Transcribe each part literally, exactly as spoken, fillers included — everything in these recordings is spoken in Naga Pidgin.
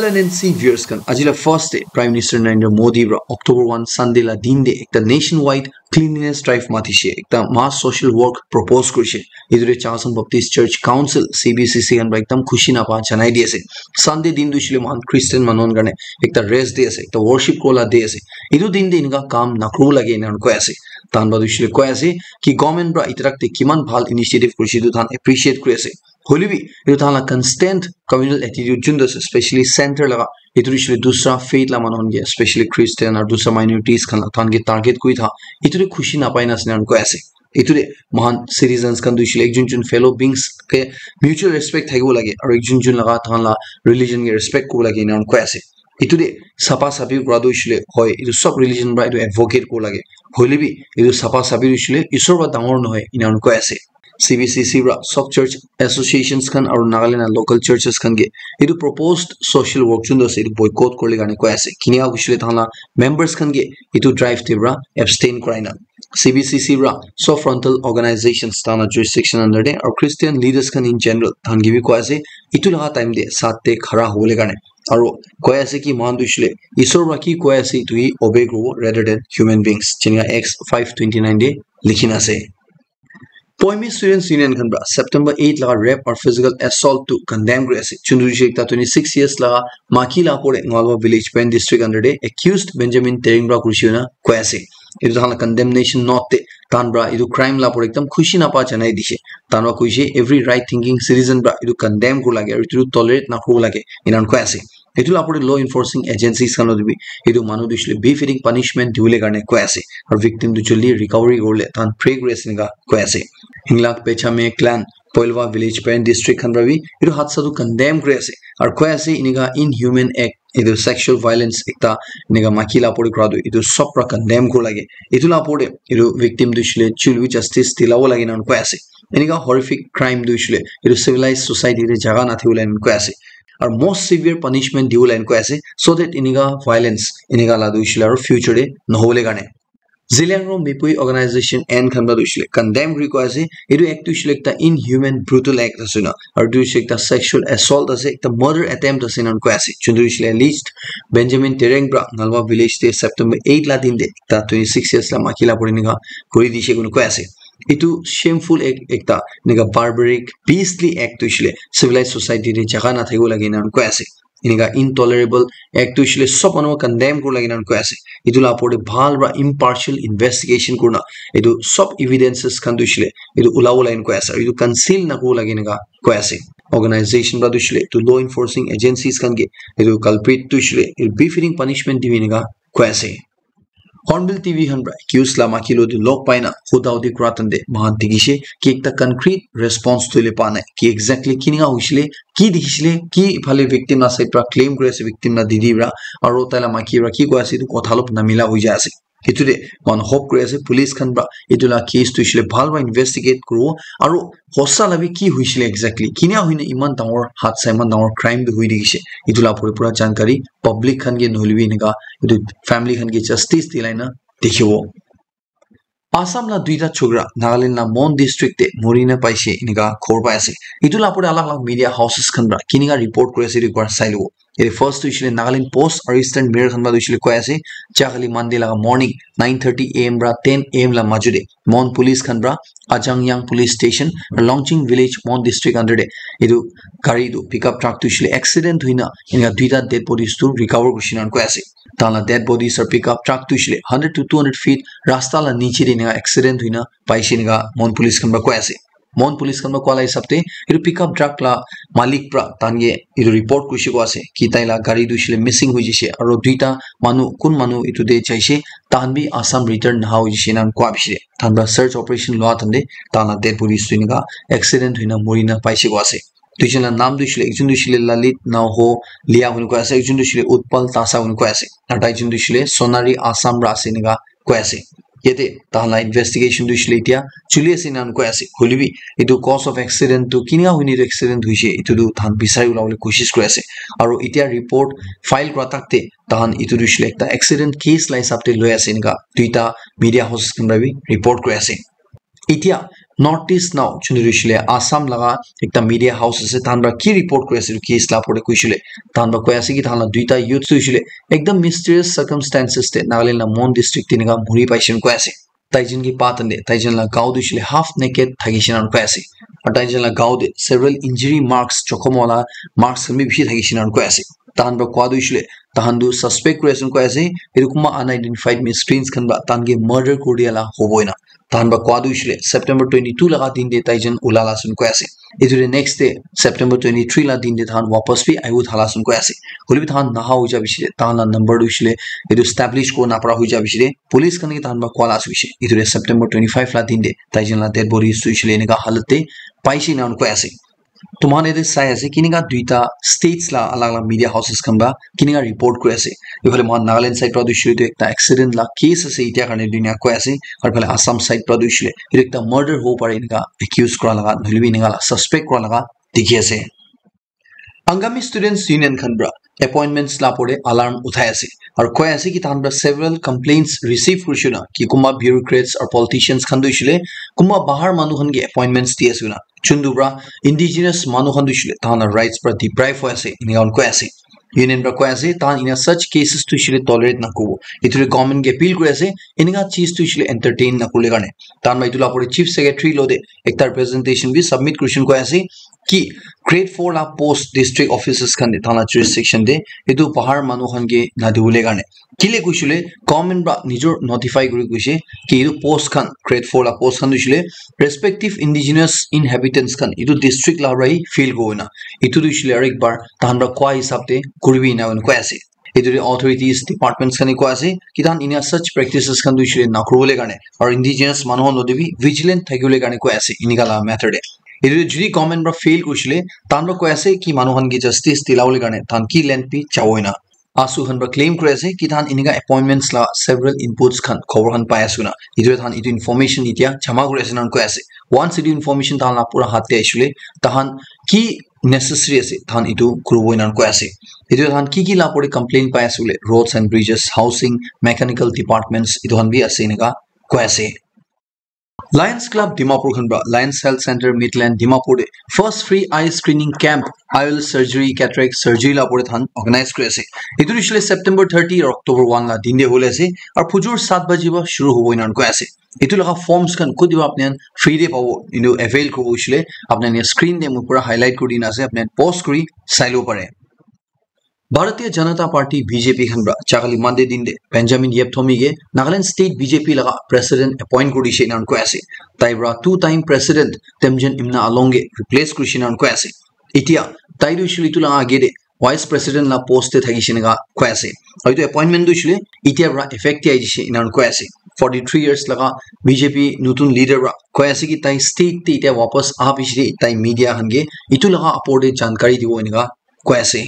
L N N C viewers khan, aji la first day Prime Minister Narendra Modi pra October one Sunday la din de ekta nationwide cleanliness drive matishe, ekta mass social work propose kurishe. Etu de Chakhesang Baptist Church Council, C B C C khan pra ekdam khushi napa janai di ase. Sunday din tu shile mohan Christian manu khan karne ekta rest day ase, ekta worship kola day ase. Etu din de enika kam nakuru lage ena koi ase. Tahan pra tu shile koi ase ki government pra itarak te kiman bhal initiative kurishe, etu tahan appreciate kuri ase. Hoile bi etu tahan la constant communal attitude jun tu ase, especially center laga, etu tu shile dusra faith la manu khan ke, especially Christian aru dusra minorities khan la, tahan ke target kuri tha, etu de khushi napai na ase ena koi ase. Etu de mohan citizens khan tu shile ekjun jun fellow beings ke mutual respect thakibo lage aru ekjun jun laga tahan la religion ke respect kuribo lage ena koi ase. Etu de sapa sapi kura tu shile hoi, etu sob religion pra etu advocate kuribo lage. Hoile bi etu sapa sapi tu shile Isor pra dangor nohoi ena koi ase. C B C C pra sob church associations khan aru Nagaland la local churches khan ke etu proposed social work jun tu ase etu boycott kuribole karne koi ase. Kinika kushile tahan la members khan ke etu drive te pra abstain kurai na. C B C C pra sob frontal organizations tahan la jurisdiction under te aru Christian leaders khan in general tahan ke bi koi ase etu laga time te sat te khara hobole karne. Aru koi ase ki mohan tu shile Isor pra ki koi ase etu hi obey kuribo rather than human beings. Jenika Acts five twenty nine de likhi na ase. Poimi Students Union khan pra September eight laga rape or physical assault tu condemn kuri ase. Chunduri shile ekta twenty six years laga maki la pore Ngalwa village Peren district under de accused Benjamin Tereng pra kurishe na koi ase. Etu tahan la condemnation note te tahan pra etu crime la pore ekdam khushi napa janai dishe. Tahan pra kuishe every right thinking citizen pra etu condemn kuribo lage aru etu tolerate nakuribo lage ena koi ase. Etu la pore law enforcing agencies khan lo bi etu manu tu shile befitting punishment dibole karne koi ase. Aru victim tu jaldi recovery kuribole tahan pray kuri ase ena koi ase. Hinglak Pechame clan Poilwa village Peren district khan pra bi etu hadsa tu condemn kuri ase. Aru koi ase enika inhuman act, etu sexual violence ekta enika maki la pore kura tu etu sob pra condemn kuribo lage. Etu la pore etu victim tu shile chul bi justice dilabo lage ena koi ase. Enika horrific crime tu shile etu civilized society te jaga nathibole ena koi ase. Aru most severe punishment dibole ena koi ase, so that enika violence enika la tu shile aru future te nohobole karne. Zeliangrong Mipui organization and khan pra tu shile condemn kuri koi ase. Etu act tu shile ekta inhuman brutal act ase na. Aru tu shile ekta sexual assault ase, ekta murder attempt ase ena koi ase. Chunduri shile alleged Benjamin Tereng pra Ngalwa village te September eight la din de ekta twenty six years la maki la pore enika kuri dishe koi ase. Etu shameful act ekta enika barbaric beastly act tu shile civilized society te jaga nathakibo lage ena koi ase. Enika intolerable act tu shile sob manu condemn kuribo lage ena koi ase. Etu la pore bhal pra impartial investigation kurina etu sob evidences khan tu shile etu ulabo lage ena koi ase. Etu conceal nakuribo lage ena koi ase. Organization pra tu shile etu law enforcing agencies khan ke etu culprit tu shile etu befitting punishment dibi ena koi ase. Hornbill T V khan pra accused la maki lo tu log pai na huda hudi kura time te mohan dikhishe ki ekta concrete response tu le pa nai ki exactly kinika hoishile, ki dikhishile, ki phale victim la side pra claim kuri ase victim la didi pra, aru tai la maki pra ki koi ase etu kotha olop namila hoi jai ase. Etu de mohan hope kuri ase police khan pra etu la case tu shile bhal pra investigate kuribo aru hosa la bi ki hoishile exactly, kinika hoina eman dangor hadsa, eman dangor crime bi hoi thakishe, etu la pore pura jankari public khan ke nohoile bi enika etu family khan ke justice dilai na dikhibo. Assam la duita chokra Nagaland la Mon district te mori na paishe enika khobor pai ase. Etu la pore alag alag media houses khan pra kinika report kuri ase etu ekbar sai lobo. Yate first tu hoishile Nagaland Post aru Eastern Mirror khan pra tu hoishile koi ase, jahali Monday laga morning nine thirty A M pra ten A M la maju te Mon police khan pra Ajangyang Police Station, Longching Village, Mon District under te etu gari tu pickup truck tu hoishile accident hoina enika duita dead bodies tu recover kurishe na koi ase. Tahan la dead bodies aru pickup truck tu hoishile hundred to two hundred feet rasta la niche te enika accident hoina paishe enika Mon police khan pra koi ase. Mon police khan pra koa la hisab te etu pickup truck la malik pra tahan ke etu report kurishe koi ase ki tai la gari tu hoishile missing hoi jaishe aru duita manu kun manu etu te jaishe tahan bi Assam return naha hoi jaishe ena koa bishi de tahan pra search operation loa time te tahan la dead bodies tu enika accident hoina mori na paishe koi ase. Duijon la naam tu hoishile, ekjon tu hoishile Lalit Naoho Lia hoi koi ase, ekjon tu hoishile Utpal Tasa hoi koi ase, aru tai jon tu hoishile Sonari Assam pra ase enika koi ase. Yate tahan la investigation tu hoishile etia chuli ase ena koi ase. Hoile bi etu cause of accident tu kinika hoina etu accident hoishe, etu tu tahan bisari ulabole koshish kuri ase. Aru etia report file kura tak te tahan etu tu hoishile ekta accident case la hisab te loi ase enika duita media houses khan pra bi report kuri ase. Etia North East Now, chunuri shile Assam laga ekta media house ase, tahan pra ki report kuri ase etu case la opor te kuishile, tahan pra koi ase ki tahan la duita youth tu shile ekdam mysterious circumstances te Nagaland la Mon district te enika muri paishe koi ase. Taijon ki pa tande, taijon la gao tu shile half naked thakishe na koi ase. Aru taijon la gao te several injury marks, jokhom wala marks khan bi bishi thakishe na koi ase. Tahan pra koa tu shile, tahan tu suspect kuri ase koi ase, etu kunba unidentified misprints khan pra tahan ke murder kuri dia la hobo ena. Tahan pra koa tu shile September twenty-two laga din te taijon ulala sun koi ase. Etu de next day September twenty-three la din te tahan wapas bi ayu thala sun koi ase. Hoilebi tahan naha hoija bishile, tahan la number tu shile etu establish ko napra hoija bishile, police khan ke tahan pra koa la ase bishi. Etu de September twenty-five la din te taijon la dead bodies tu shile enika halat te paishe na koi ase. Tuman yate sai ase kinika duita states la alag alag media houses khan pra kinika report kuri ase. Ephale mohan Nagaland side pra tu shile etu ekta accident la case ase, etia karne dunia koi ase. Aru phale Assam side pra tu shile etu ekta murder hobo pare enika accuse kura laga, nohoilebi enika la suspect kura laga dikhi ase. Angami Students Union khan pra appointments la opor te alarm uthai ase. Aru koi ase ki tahan pra several complaints receive kurishe na ki kunba bureaucrats aru politicians khan tu shile kunba bahar manu khan ke appointments di ase na. Chundu pra indigenous manu khan tu shile tahan la rights pra deprive hoi ase, enika koi ase. Union pra koi ase, tahan ina such cases tu shile tolerate na kuribo. Etu le government ke appeal kuri ase, enika cheez tu shile entertain na kurle karne. Tahan pra etu la opor te Chief Secretary lo te ekta representation bi submit kurishe koi ase ki grade four la post district offices khan te tahan la jurisdiction te etu bahar manu khan ke na dibole karne. Kile kuishile government pra nijor notify kuri kuishe ki etu post khan, grade four la post khan tu shile respective indigenous inhabitants khan etu district la pra hi fill kuri na. Etu tu shile aru ek bar tahan pra koa hisab te kuribi ena koi ase. Etu te authorities, departments khan ke koi ase ki tahan ena such practices khan tu shile na kuribole karne aru indigenous manu khan lo te bi vigilant thakibole karne koi ase enika la matter te. Etu te jodi government pra fail kuishile, tahan pra koi ase ki manu khan ke justice dilabole karne tahan ki length bi jabo ena. ASU khan pra claim kuri ase ki tahan enika appointments la several inputs khan, khobor khan pai ase na. Etu tahan etu information etia jama kuri ase na koi ase. Once etu information tahan la pura hath te aishile, tahan ki necessary ase, tahan etu kuribo ena koi ase. Etu tahan ki ki la opor te complaint pai ase bole, roads and bridges, housing, mechanical departments, etu khan bi ase enika koi ase. Lions Club Dimapur khan pra Lions Health Center Midland Dimapur te first free eye screening camp, I O L surgery, cataract surgery la opor te tahan organize kuri ase. Etu tu shile September thirty aru October one la din te hole ase. Aru phujor saat baji pra shuru hobo ena koi ase. Etu laga forms khan kutiba apni khan free te pabo, etu avail kuribo hoishile apni khan screen te moi pura highlight kuri dina ase, apni khan pause kuri sai lobo pare. Bharatiya Janata Party, B J P khan pra chakali Monday din te Benjamin Yepthomi ke Nagaland State B J P laga president appoint kuri dishe enan koi ase. Tai pra two time president Temjen Imna Along ke replace kuri dishe enan koi ase. Etia tai tu shili tu laga age te vice president la post te thakishe enika koi ase. Aru etu appointment tu shili etia pra effect te ahi dishe enan koi ase. Forty three years laga B J P nutun leader pra koi ase ki tai state te etia wapas aha piche te tai media khan ke etu laga upor te jankari dibo enika koi ase.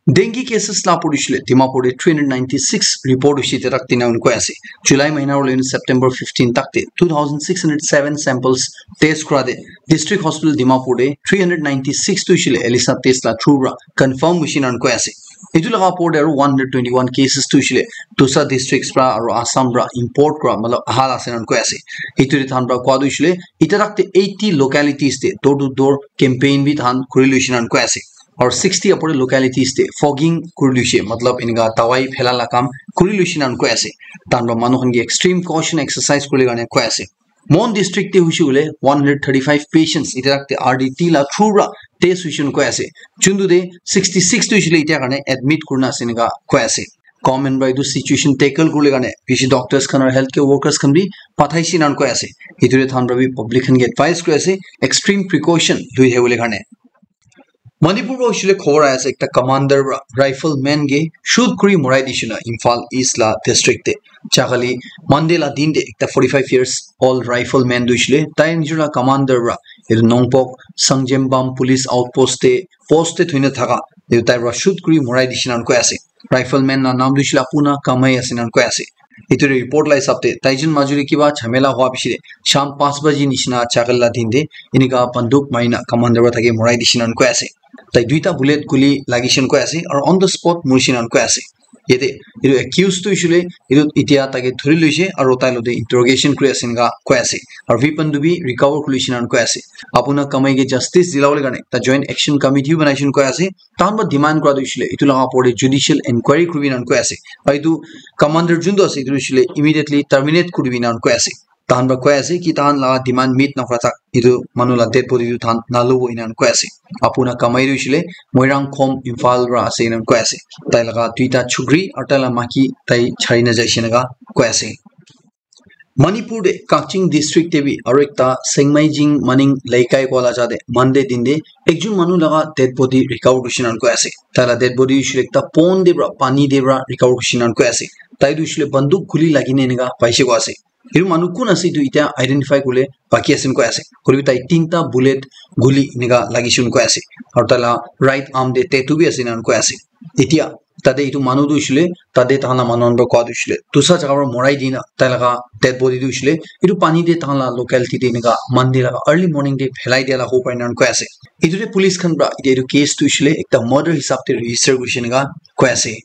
Dengue cases la pori shile Dimapur te three hundred ninety six report hoise te tak tina koi ase. July mahina hoile September fifteen tak te two thousand six hundred seven samples test kora te district hospital Dimapur te three hundred ninety six tu shile ELISA test la through ra confirm hoise nan koi ase. Etu laga opor te aru one hundred twenty one cases tu shile dosa districts pra aru Assam pra import kora matlab aha la ase nan koi ase. Etu te than pra koi tu shile ita tak te eighty localities te door to door campaign bi than kuri loise nan koi ase. Aru sixty upor localities te fogging kuri loise, matlab enika dawai phela la kam kuri loise nan koi ase. Tan pra manu khan ke extreme caution exercise kuri karne koi ase. Mon district te hoise koile one hundred thirty five patients ita te R D T la through ra test hoise nan koi ase. Chundu te sixty six tu hoise le ita karne admit kurina ase enika koi ase. Government pra etu situation tackle kuribole karne bishi doctors khan aru healthcare workers khan bi pathaise nan koi ase. Etu te than pra bi public khan ke advice kuri ase extreme precaution lui thakibole karne. Manipur pra hoise le khobor ahi ase ekta commander pra rifle man ke shoot kuri morai dise na Imphal East la district te. Jakali Monday la din te ekta forty five years old rifle man tu hoise le tai nijor la commander pra etu Nongpok Sangjembam police outpost te post te thoi na thaka etu tai pra shoot kuri morai dise nan koi ase. Rifle man la naam tu hoise le Apuna Kamai ase nan koi ase. Etu report la hisab te tai jun majuri kiba jhamela hua piche te sham panch baji nishina jakali la din te enika banduk mari na commander pra thake morai dise nan koi ase. Tai duita bullet guli lagise nan koi ase aru on the spot morise nan koi ase. Yate etu accused tu hoishe le etu itia taike dhuri loishe aru tai lote interrogation kuri ase enika koi ase. Aru weapon tu bi recover kuri loishe enika koi ase. Apuna kamai ke justice dilabole karne ekta joint action committee bi banai shina koi ase. Tahan para demand kura tu hoishe le etu laga opor te judicial inquiry kuribi enika koi ase. Aru etu commander jun tu ase etu hoishe le immediately terminate kuribi enika koi ase. Tahan para koi ase ki tahan laga demand meet nakura tak etu manu la dead body tu tahan nalobo enika koi ase. Apuna kamai tu hoishe le Moirang Khom Imphal para ase enika koi ase. Tai laga duita chukri aru tai la maki tai chari na jaishe enika koi ase. Manipur te Kakching district te bi aru ekta Sengmaijing Maning Leikai koa la ja te Monday din te ekjun manu laga dead body recover kurishe enika koi ase. Tai la dead body hoishe le ekta pond te para pani te para recover kurishe enika koi ase. Tai tu hoishe le banduk guli lagi na enika paishe koi ase. Etu manu kun ase etu itia identify kuribole baki ase enika koi ase. Hoilebi tai tinta bullet guli enika lagishe enika koi ase. Aru tai la right arm te tattoo bi ase enika koi ase. Itia tate etu manu tu hoishe le tate tahan la manu khan para koa tu hoishe le dusa jaga para morai dina tai laga dead body tu hoishe le etu pani te tahan la locality te enika Monday laga early morning te phelai dia la hobo pare enika koi ase. Etu te police khan para etia etu case tu hoishe le ekta murder hisab te register kurishe enika koi ase.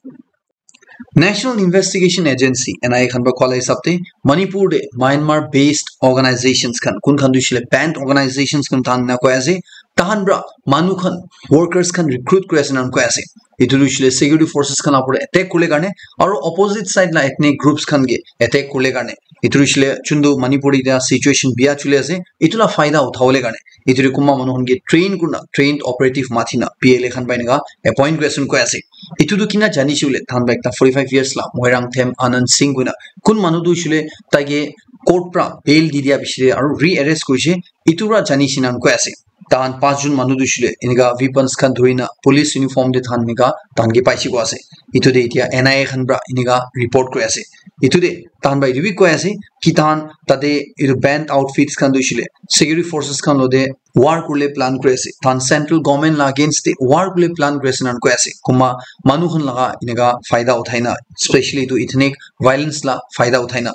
National Investigation Agency, N I A khan para koa la hisab te Manipur te Myanmar based organizations khan kun khan tu hoishe le banned organizations khan tahan enika koi ase. Tahan para manu khan workers khan recruit kuri ase enika koi ase. Etu tu hoishe le security forces khan la opor te attack kuribole karne aru opposite side la ethnic groups khan ke attack kuribole karne. Etu tu hoishe le chundu Manipur te etia situation bia chuli ase. Etu la faida uthabole karne etu tu kunba manu khan ke train kurina trained operative mathi na P L A khan para enika appoint kuri ase enika koi ase. Etu tu kina janishe koile tahan para ekta forty five years la Moirang Them Anand Singh koina kun manu tu hoishe le tai ke court para bail di dia piche te aru re-arrest kurishe etu para janishe enika koi ase. Tahan panch jun manu tu hoishe le enika weapons khan dhuri na police uniform te tahan enika tahan ke paishe koi ase. Etu te itia N I A khan para enika report kuri ase. Etu te tahan para etu bi koi ase ki tahan tate etu banned outfits khan tu hoishe le security forces khan lote war kuribole plan kuri ase. Tahan central government la against te war kuribole plan kuri ase enika koi ase. Kunba manu khan laga enika faida uthai na, especially etu ethnic violence la faida uthai na,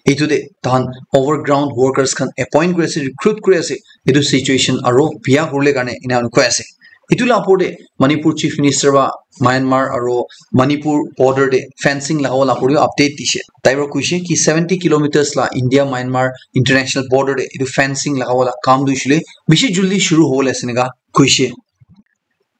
etu te tahan overground workers khan appoint kuri ase, recruit kuri ase. Etu situation aru bia kuribole karne enika koi ase. Etu la opor te Manipur Chief Minister para Myanmar aru Manipur border te fencing lagabole opor te update dishe. Tai para koishe ki seventy kilometers la India Myanmar international border te etu fencing lagabole kam tu hoishe le bishi juldi shuru hobole ase enika koishe.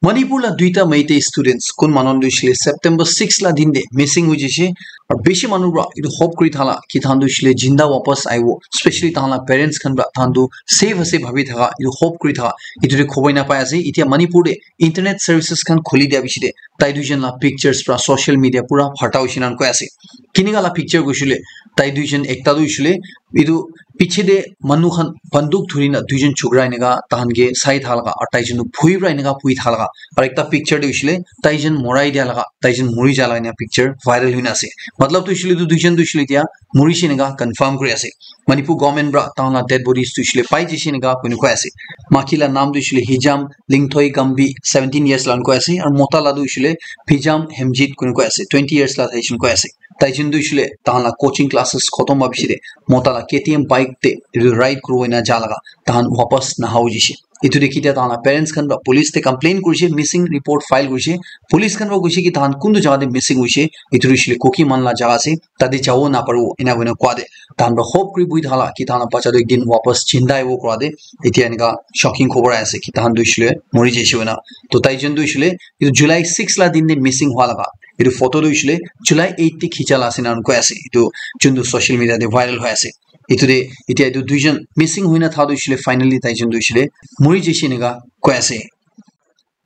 Manipur la duita Meitei students kun manu tu hoishe le September six la din te missing hoi jaishe. Aru bishi manu para etu hope kuri thala ki tahan tu hoishe le jinda wapas aibo, especially tahan la parents khan para tahan tu safe ase bhabi thaka etu hope kuri thaka etu te khobor enika pai ase. Itia Manipur te internet services khan khuli dia piche te tai duijon la pictures para social media pura pharta hoishe enika koi ase. Kinika la picture koishe le tai duijon ekta tu hoishe le etu piche te manu khan banduk dhuri na duijon chokra enika tahan ke sai thaka laga aru taijon tu bhui para enika bhui thaka laga aru ekta picture te hoishe le taijon morai dia laga taijon mori ja laga enika picture viral hoi na ase. Matlab tu hoishe le etu duijon tu hoishe le itia morishe enika confirm kuri ase. Manipur government para tahan la dead bodies tu hoishe le pai jaishe enika koi na koi ase. Maki la naam tu hoishe le Hijam Lingthoi Gambi seventeen years la koi ase aru mota la tu hoishe le Phijam Hemjit koi na koi ase twenty years la taijon koi ase. Taijon tu hoishe le tahan la coaching classes khotom hwa piche te mota la K T M bike te etu ride kuribo enika ja laga tahan wapas naha hoi jaishe. Etu te kitia tahan la parents khan para police te complain kurishe, missing report file kurishe. Police khan para koishe ki tahan kuntu jaga te missing hoishe, etu tu hoishe le Kuki manu la jaga ase, tate jabo naparibo enika koina koa te tahan para hope kuri bhui thala ki tahan la bacha tu ekdin wapas jinda aibo koa te. Itia enika shocking khobor ahi ase ki tahan tu hoishe le mori jaishe koina. To taijon tu hoishe le etu July six la din te missing hwa laga etu photo tu hoishe le July eight te khicha la ase enika koi ase. Etu juntu social media te viral hoi ase. Etu te itia etu duijon missing hoina tha tu hoishe le finally taijon tu hoishe le mori jaishe enika koi ase.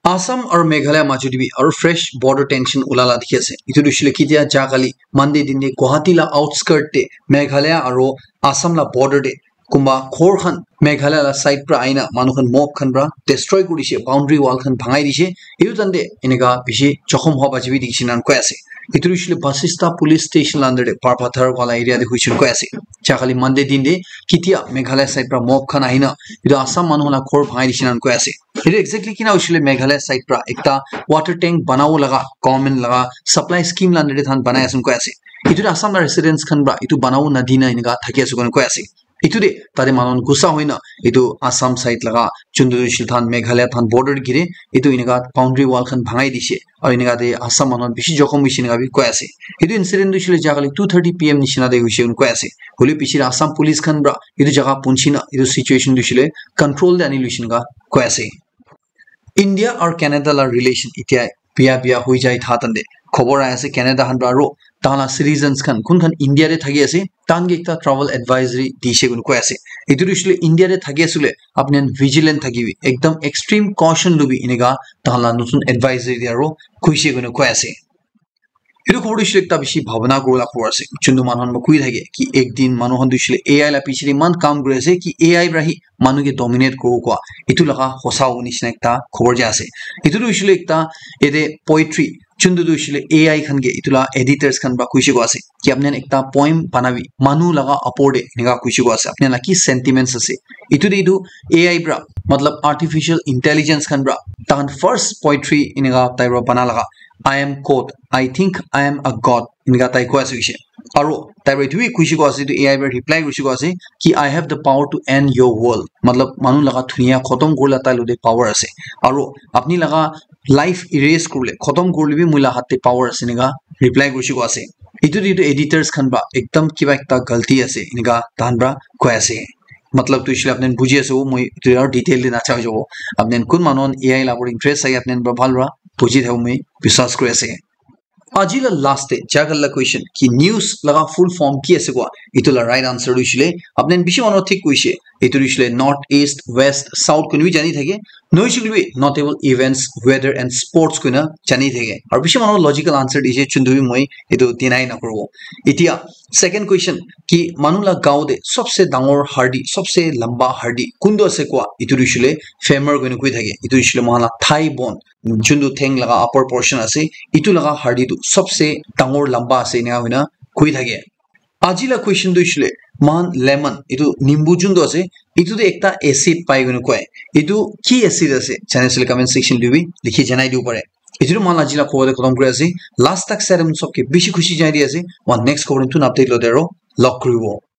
Assam aru Meghalaya majot te bi aru fresh border tension ula la dikhi ase. Etu tu hoishe le kitia ja kali Monday din te Guwahati la outskirt te Meghalaya aru Assam la border te kunba ghor khan Meghalaya la side pra ahina manu khan mob khan pra destroy kuri dishe, boundary wall khan bhangai dishe. Etu time te enika bishi jokhom hwa bachi bi dikhi shina koi ase. Etu hoishe le Basista police station la under te Parpathar wala area te hoishe koi ase. Ja kali Monday din te kitia Meghalaya side pra mob khan ahina etu Assam manu khan la ghor bhangai dishe na koi ase. Etu exactly kina hoishe le Meghalaya side pra ekta water tank banabo laga government laga supply scheme la under te tahan banai ase koi ase. Etu tu Assam la residents khan pra etu banabo nadina enika thaki ase koina koi ase. Etu de tate manu khan gusa hoina etu Assam side laga chundu shilthan Meghalaya than border gire etu enika boundary wall khan bhangai dishe. Aru enika te Assam manu khan bishi jokhom hoishe enika bi koi ase. Etu incident tu hoishe le jagale two thirty P M nishina te hoishe koi ase. Hoile piche te Assam police khan pra etu jaga punchina etu situation tu hoishe le control te ani loishe enika koi ase. India aru Canada la relation itia bia bia hoi jai tha tande khobor ai ase Canada khan pra aro tahan la citizens khan kun khan India te thaki ase tahan ke ekta travel advisory dishe koi ase. Etu tu hoishe le India te thaki ase le apni khan vigilant thakibi ekdam extreme caution lubi enika tahan la notun advisory te aro koishe koi ase. Etu khobor tu hoishe le ekta bishi bhabana kurila khobor ase. Chundu manu khan moi koi thake ki ek din manu khan tu hoishe le A I la piche te eman kam kuri ase ki A I pra hi manu ke dominate kuribo koi. Etu laga hosa hobo nishina ekta khobor jai ase. Etu tu hoishe le ekta yate poetry chundu tu hoishe le A I khan ke etu la editors khan pra koishe koi ase ki apni khan ekta poem banabi manu laga upor te enika koishe koi ase. Apni khan la ki sentiments ase. Etu te etu A I pra matlab artificial intelligence khan pra tahan first poetry enika type pra bana laga I am God. I think I am a god. Enika tai koi ase hoishe. Aro tai pra etu bi koishe koi ase, etu A I pra reply koishe koi ase ki I have the power to end your world. Matlab, manu laga dunia khotom kurila tai lo te power ase. Aro apni laga life erase kurle, khotom kurle bi moi la hat te power ase enika reply koishe koi ase. Etu te etu editors khan pra ekdam kiba ekta galti ase enika tahan pra koi ase. Matlab tu hoishe le apni khan buji ase, moi etu aru detail te nacha jabo. Apni khan kun manu khan A I la upor interest ase, apni khan pra bhal pra buji thabo moi biswas kuri ase. Aji la last te jagal la question ki news laga full form ki ase koi, etu la right answer tu hoishe le apni khan bishi manu thik koishe, etu tu hoishe le north, east, west, south koi kena bi jani thake, nohoishe koile bi notable events, weather and sports koi kena jani thake. Aru bishi manu logical answer dishe, chundu bi moi etu deny nakuribo. Etia second question ki manu la gaon te sobse dangor hardi, sobse lamba hardi kuntu ase koi, etu tu hoishe le femur koi kena koi thake, etu hoishe le moikhan la thigh bone, chundu theng laga upper portion ase, etu laga hardi tu sobse dangor lamba ase enika hoina koi thake. Aji la question tu hoishe le moikhan lemon, etu nimbu chundu ase, etu te ekta acid pai koi kena koi. Etu ki acid ase? Jane ase le comment section te bi likhi janai dibo pare. Etu tu moikhan aji la khobor te khotom kuri ase. Last tak sai kena sob ke bishi khushi janai di ase. Moikhan next khobor te notun update lo te aro log kuribo.